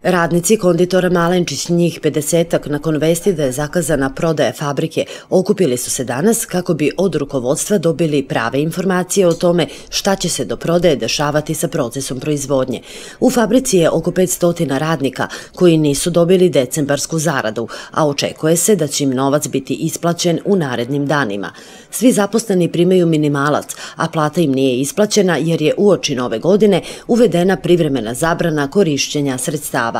Radnici konditora Malenčić, njih 50-ak, nakon vesti da je zakazana prodaja fabrike, okupili su se danas kako bi od rukovodstva dobili prave informacije o tome šta će se do prodaje dešavati sa procesom proizvodnje. U fabrici je oko 500 radnika koji nisu dobili decembarsku zaradu, a očekuje se da će im novac biti isplaćen u narednim danima. Svi zaposleni primaju minimalac, a plata im nije isplaćena jer je uoči nove godine uvedena privremena zabrana korišćenja sredstava.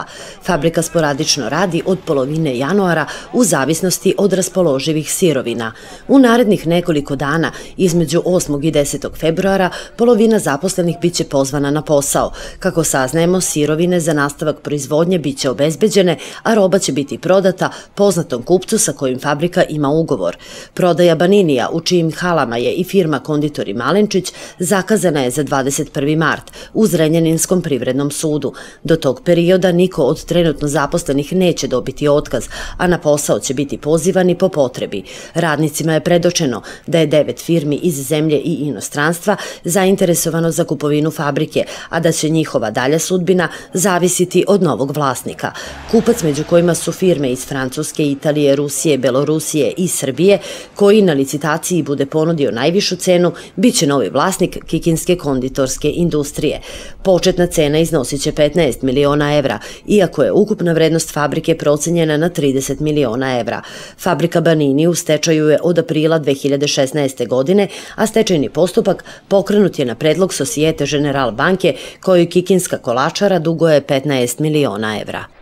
Fabrika sporadično radi od polovine januara u zavisnosti od raspoloživih sirovina. U narednih nekoliko dana, između 8. i 10. februara, polovina zaposlenih biće pozvana na posao. Kako saznajemo, sirovine za nastavak proizvodnje biće obezbeđene, a roba će biti prodata poznatom kupcu sa kojim fabrika ima ugovor. Prodaja Baninija, u čijim halama je i firma Konditori Malenčić, zakazana je za 21. mart u Zrenjaninskom privrednom sudu. Do tog perioda niko od trenutno zaposlenih neće dobiti otkaz, a na posao će biti pozivani po potrebi. Radnicima je predočeno da je 9 firmi iz zemlje i inostranstva zainteresovano za kupovinu fabrike, a da će njihova dalja sudbina zavisiti od novog vlasnika. Kupac, među kojima su firme iz Francuske, Italije, Rusije, Belorusije i Srbije, koji na licitaciji bude ponudio najvišu cenu, bit će novi vlasnik Kikinske konditorske industrije. Početna cena iznosit će 15 miliona evra, iako je ukupna vrednost fabrike procenjena na 30 miliona evra. Fabrika Banini u stečaju je od aprila 2016. godine, a stečajni postupak pokrenut je na predlog Societe Generale banke, kojoj Kikinska kolačara duguje 15 miliona evra.